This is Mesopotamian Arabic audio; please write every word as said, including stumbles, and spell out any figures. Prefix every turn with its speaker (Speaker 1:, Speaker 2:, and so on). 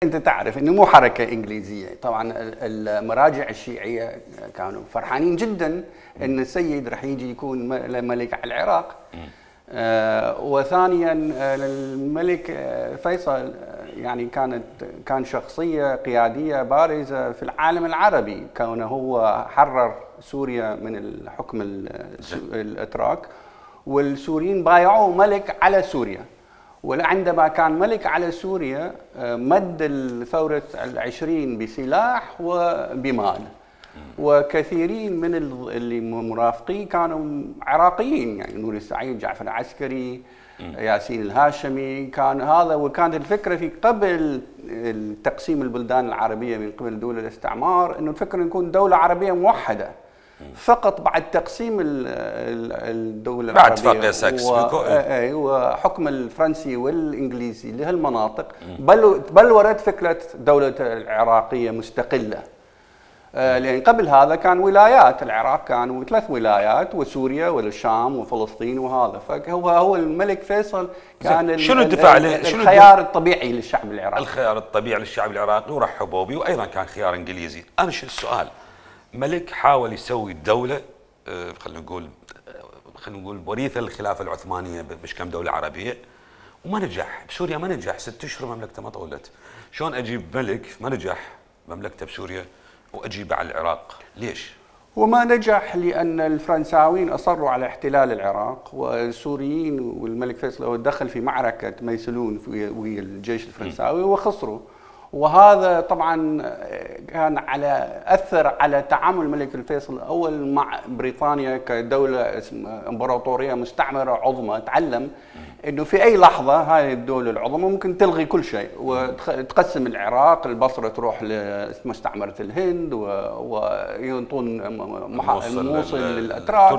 Speaker 1: انت تعرف انه مو حركه انجليزيه، طبعا المراجع الشيعيه كانوا فرحانين جدا ان السيد راح يجي يكون ملك على العراق. آه وثانيا الملك فيصل يعني كانت كان شخصيه قياديه بارزه في العالم العربي، كونه هو حرر سوريا من الحكم الاتراك، والسوريين بايعوه ملك على سوريا. وعندما كان ملك على سوريا مد الثورة العشرين بسلاح وبمال، وكثيرين من اللي مرافقين كانوا عراقيين، يعني نور السعيد، جعفر العسكري، ياسين الهاشمي، كان هذا. وكانت الفكرة في قبل تقسيم البلدان العربية من قبل دول الاستعمار انه الفكرة نكون دولة عربية موحدة. فقط بعد تقسيم الدولة
Speaker 2: بعد
Speaker 1: العربية
Speaker 2: اتفاقية ساكس-بيكو
Speaker 1: وحكم الفرنسي والانجليزي لهالمناطق بل بلورت فكرة دولة العراقية مستقلة. لأن قبل هذا كان ولايات، العراق كانوا ثلاث ولايات، وسوريا والشام وفلسطين وهذا. فهو هو الملك فيصل كان
Speaker 2: شنو الدفاع
Speaker 1: الخيار الطبيعي للشعب العراقي.
Speaker 2: الخيار الطبيعي للشعب العراقي ورحبوا به، وايضا كان خيار انجليزي. انا شو السؤال؟ ملك حاول يسوي دولة خلينا نقول خلينا نقول وريثة للخلافة العثمانية بش كم دولة عربية، وما نجح. بسوريا ما نجح، ست اشهر مملكته ما طولت. شلون اجيب ملك ما نجح مملكته بسوريا واجيبه على العراق؟ ليش؟
Speaker 1: وما نجح لأن الفرنساويين أصروا على احتلال العراق، والسوريين والملك فيصل دخل في معركة ميسلون ويا الجيش الفرنساوي وخسروا. وهذا طبعا كان على اثر على تعامل الملك الفيصل الاول مع بريطانيا كدوله امبراطوريه مستعمره عظمى. تعلم انه في اي لحظه هاي الدوله العظمى ممكن تلغي كل شيء وتقسم العراق، البصره تروح لمستعمره الهند وينطون الموصل للاتراك.